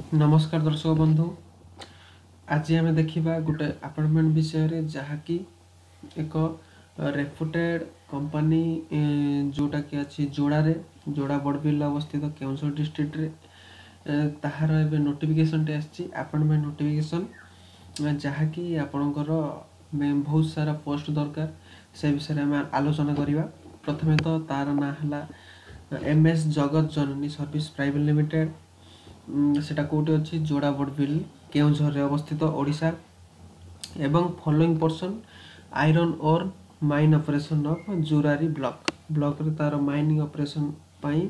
ନମସ୍କାର ଦର୍ଶକ ବନ୍ଧୁ, ଆଜି ଆମେ ଦେଖିବା ଗୋଟେ ଆପଏଣ୍ଟମେଣ୍ଟ ବିଷୟରେ, ଯାହାକି ଏକ ରେପୁଟେଡ୍ କମ୍ପାନୀ, ଯେଉଁଟାକି ଅଛି ଯୋଡ଼ାରେ, ଯୋଡ଼ା ବଡ଼ବିଲ ଅବସ୍ଥିତ କେଉଁଝର ଡିଷ୍ଟ୍ରିକ୍ଟରେ। ତାହାର ଏବେ ନୋଟିଫିକେସନଟି ଆସିଛି, ଆପଏଣ୍ଟମେଣ୍ଟ ନୋଟିଫିକେସନ୍, ଯାହାକି ଆପଣଙ୍କର ବହୁତ ସାରା ପୋଷ୍ଟ ଦରକାର। ସେ ବିଷୟରେ ଆମେ ଆଲୋଚନା କରିବା। ପ୍ରଥମେ ତ ତାର ନାଁ ହେଲା ଏମ୍ ଏସ୍ ଜଗତ ଜନନୀ ସର୍ଭିସ ପ୍ରାଇଭେଟ ଲିମିଟେଡ୍। ସେଟା କେଉଁଠି ଅଛି? ଯୋଡ଼ା ବଡ଼ବିଲ, କେଉଁଝରରେ ଅବସ୍ଥିତ, ଓଡ଼ିଶା। ଏବଂ following person, iron ore mine operation of Jurari block। ବ୍ଲକରେ ତାର ମାଇନିଂ ଅପରେସନ୍ ପାଇଁ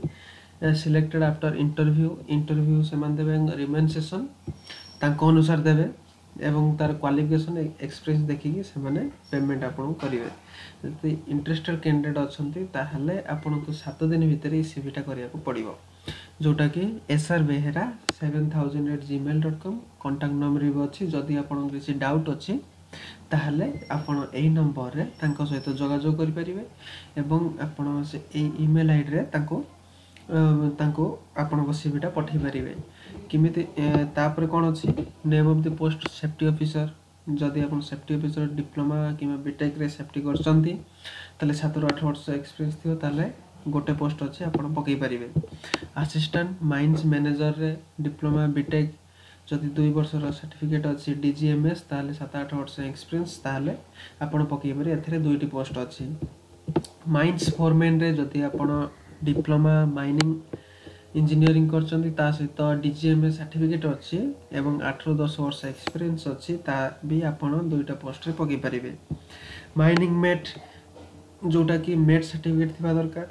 ସିଲେକ୍ଟେଡ୍ ଆଫ୍ଟର ଇଣ୍ଟରଭ୍ୟୁ। ଇଣ୍ଟରଭ୍ୟୁ ସେମାନେ ଦେବେ, ରିମ୍ୟୁନରେସନ୍ ତାଙ୍କ ଅନୁସାରେ ଦେବେ ଏବଂ ତାର କ୍ୱାଲିଫିକେସନ୍, ଏକ୍ସପିରିଏନ୍ସ ଦେଖିକି ସେମାନେ ପେମେଣ୍ଟ ଆପଣଙ୍କୁ କରିବେ। ଯଦି ଇଣ୍ଟରେଷ୍ଟେଡ୍ କ୍ୟାଣ୍ଡିଡେଟ୍ ଅଛନ୍ତି, ତାହେଲେ ଆପଣଙ୍କୁ 7 ଦିନ ଭିତରେ ଏଇ ସିଭିଟା କରିବାକୁ ପଡ଼ିବ, ଯେଉଁଟାକି srbehera7000@gmail.com। Contact number ବି ଅଛି। ଯଦି ଆପଣଙ୍କର କିଛି ଡାଉଟ୍ ଅଛି, ତାହେଲେ ଆପଣ ଏଇ ନମ୍ବରରେ ତାଙ୍କ ସହିତ ଯୋଗାଯୋଗ କରିପାରିବେ ଏବଂ ଆପଣ ସେ ଏଇ ଇମେଲ୍ ଆଇଡ଼ିରେ ତାଙ୍କୁ ଆପଣଙ୍କ ସିଭିଟା ପଠାଇ ପାରିବେ। କେମିତି? ତାପରେ କ'ଣ ଅଛି? Name of the post, safety officer। ଯଦି ଆପଣ ସେଫ୍ଟି ଅଫିସର ଡିପ୍ଲୋମା କିମ୍ବା ବିଟେକ୍ରେ ସେଫ୍ଟି କରିଛନ୍ତି, ତାହେଲେ 7ରୁ 8 ବର୍ଷ ଏକ୍ସପିରିଏନ୍ସ ଥିବ, ତାହେଲେ ଗୋଟେ ପୋଷ୍ଟ ଅଛି, ଆପଣ ପକାଇ ପାରିବେ। ଆସିଷ୍ଟାଣ୍ଟ ମାଇନ୍ସ ମ୍ୟାନେଜରରେ ଡିପ୍ଲୋମା, ବିଟେକ୍, ଯଦି 2 ବର୍ଷର ସାର୍ଟିଫିକେଟ୍ ଅଛି ଡିଜିଏମ୍ଏସ୍, ତାହେଲେ 7-8 ବର୍ଷ ଏକ୍ସପିରିଏନ୍ସ, ତାହେଲେ ଆପଣ ପକାଇ ପାରିବେ। ଏଥିରେ ଦୁଇଟି ପୋଷ୍ଟ ଅଛି। ମାଇନ୍ସ ଫୋରମେନ୍ରେ ଯଦି ଆପଣ ଡିପ୍ଲୋମା ମାଇନିଂ ଇଞ୍ଜିନିୟରିଂ କରିଛନ୍ତି, ତା ସହିତ ଡିଜିଏମ୍ଏସ୍ ସାର୍ଟିଫିକେଟ୍ ଅଛି ଏବଂ 8ରୁ 10 ବର୍ଷ ଏକ୍ସପିରିଏନ୍ସ ଅଛି, ତା ବି ଆପଣ ଦୁଇଟା ପୋଷ୍ଟରେ ପକାଇ ପାରିବେ। ମାଇନିଂ ମେଟ୍, ଯେଉଁଟାକି ମେଟ୍ ସାର୍ଟିଫିକେଟ୍ ଥିବା ଦରକାର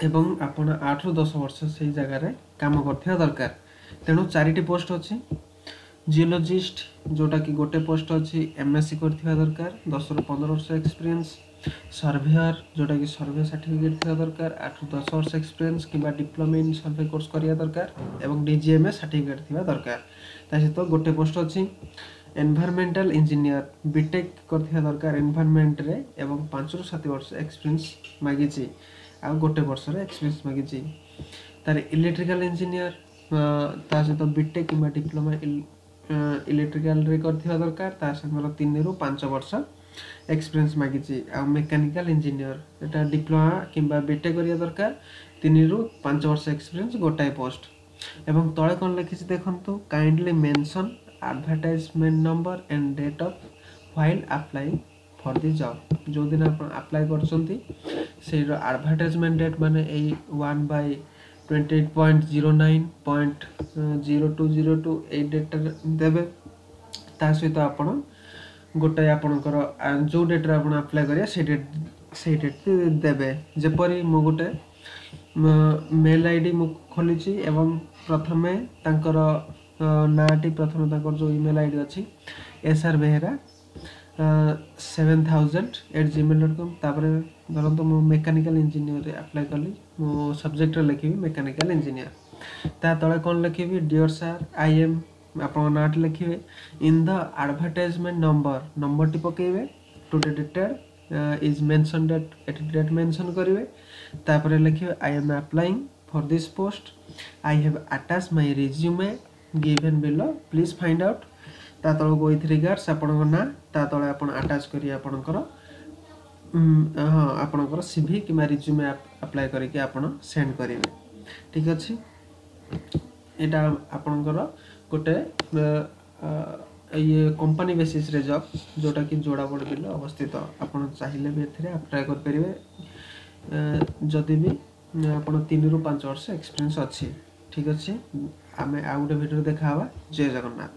ଏବଂ ଆପଣ 8ରୁ 10 ବର୍ଷ ସେଇ ଜାଗାରେ କାମ କରିଥିବା ଦରକାର। ତେଣୁ ଚାରିଟି ପୋଷ୍ଟ ଅଛି। ଜିଓଲୋଜିଷ୍ଟ, ଯେଉଁଟାକି ଗୋଟେ ପୋଷ୍ଟ ଅଛି, ଏମ୍ଏସ୍ସି କରିଥିବା ଦରକାର, 10ରୁ 15 ବର୍ଷ ଏକ୍ସପିରିଏନ୍ସ। ସର୍ଭେୟର, ଯେଉଁଟାକି ସର୍ଭେ ସାର୍ଟିଫିକେଟ୍ ଥିବା ଦରକାର, 8ରୁ 10 ବର୍ଷ ଏକ୍ସପିରିଏନ୍ସ କିମ୍ବା ଡିପ୍ଲୋମା ଇନ୍ ସର୍ଭେ କୋର୍ସ କରିବା ଦରକାର ଏବଂ ଡିଜିଏମ୍ଏସ୍ ସାର୍ଟିଫିକେଟ୍ ଥିବା ଦରକାର। ତା ସହିତ ଗୋଟେ ପୋଷ୍ଟ ଅଛି ଏନଭାରମେଣ୍ଟାଲ ଇଞ୍ଜିନିୟର, ବିଟେକ୍ କରିଥିବା ଦରକାର ଏନଭାରମେଣ୍ଟରେ ଏବଂ 5ରୁ 7 ବର୍ଷ ଏକ୍ସପିରିଏନ୍ସ ମାଗିଛି ଆଉ ଗୋଟେ ବର୍ଷର ଏକ୍ସପିରିଏନ୍ସ ମାଗିଛି। ତାର ଇଲେକ୍ଟ୍ରିକାଲ ଇଞ୍ଜିନିୟର, ତା ସହିତ ବିଟେକ୍ କିମ୍ବା ଡିପ୍ଲୋମା ଇଲେକ୍ଟ୍ରିକାଲରେ କରିଥିବା ଦରକାର, ତା ସାଙ୍ଗର 3ରୁ 5 ବର୍ଷ ଏକ୍ସପିରିଏନ୍ସ ମାଗିଛି। ଆଉ ମେକାନିକାଲ ଇଞ୍ଜିନିୟର, ଏଟା ଡିପ୍ଲୋମା କିମ୍ବା ବିଟେକ୍ କରିବା ଦରକାର, 3ରୁ 5 ବର୍ଷ ଏକ୍ସପିରିଏନ୍ସ, ଗୋଟାଏ ପୋଷ୍ଟ। ଏବଂ ତଳେ କ'ଣ ଲେଖିଛି ଦେଖନ୍ତୁ: "Kindly mention advertisement number and date of while applying for the job." ଯେଉଁଦିନ ଆପଣ ଆପ୍ଲାଏ କରୁଛନ୍ତି, ସେଇର ଆଡ଼ଭର୍ଟାଇଜମେଣ୍ଟ ଡେଟ୍, ମାନେ ଏଇ 1/28.09.0202, ଏଇ ଡେଟ୍ଟା ଦେବେ। ତା ସହିତ ଆପଣ ଗୋଟାଏ ଆପଣଙ୍କର ଯେଉଁ ଡେଟ୍ରେ ଆପଣ ଆପ୍ଲାଏ କରିବେ, ସେଇ ଡେଟ୍ ଦେବେ। ଯେପରି ମୁଁ ଗୋଟେ ମେଲ୍ I D ମୁଁ ଖୋଲିଛି ଏବଂ ପ୍ରଥମେ ତାଙ୍କର ନାଁଟି, ପ୍ରଥମେ ତାଙ୍କର ଯେଉଁ ଇମେଲ୍ I D ଅଛି, srbehera7000@gmail.com। ତାପରେ ଧରନ୍ତୁ ମୁଁ ମେକାନିକାଲ ଇଞ୍ଜିନିୟରରେ ଆପ୍ଲାଏ କଲି, ମୁଁ ସବଜେକ୍ଟରେ ଲେଖିବି ମେକାନିକାଲ ଇଞ୍ଜିନିୟର। ତା ତଳେ କ'ଣ ଲେଖିବି? ଡିଅର୍ ସାର୍, I M, ଆପଣଙ୍କ ନାଁଟି ଲେଖିବେ, ଇନ୍ the advertisement number, ନମ୍ବରଟି ପକାଇବେ, today dated is mention date, ଏଠି ଡେଟ୍ ମେନସନ୍ କରିବେ। ତାପରେ ଲେଖିବେ, "I am applying for this post. I have attach my resume given below. Please find out." ତା ତଳକୁ ୱିଥ୍ ରିଗାର୍ଡସ୍, ଆପଣଙ୍କ ନାଁ, ତା ତଳେ ଆପଣ ଆଟାଚ୍ କରି ଆପଣଙ୍କର ହଁ, ଆପଣଙ୍କର ସିଭି କିମ୍ବା ରିଜ୍ୟୁମେ ଆପ୍ଲାଏ କରିକି ଆପଣ ସେଣ୍ଡ କରିବେ। ଠିକ୍ ଅଛି। ଏଇଟା ଆପଣଙ୍କର ଗୋଟେ ଇଏ କମ୍ପାନୀ ବେସିସ୍ରେ ଜବ୍, ଯେଉଁଟାକି ଯୋଡ଼ା ବଡ଼ବିଲ ଅବସ୍ଥିତ। ଆପଣ ଚାହିଁଲେ ବି ଏଥିରେ ଆପ୍ଲାଏ କରିପାରିବେ, ଯଦି ବି ଆପଣ 3ରୁ 5 ବର୍ଷ ଏକ୍ସପିରିଏନ୍ସ ଅଛି। ଠିକ୍ ଅଛି, ଆମେ ଆଉ ଗୋଟେ ଭିଡ଼ିଓରେ ଦେଖା ହେବା। ଜୟ ଜଗନ୍ନାଥ।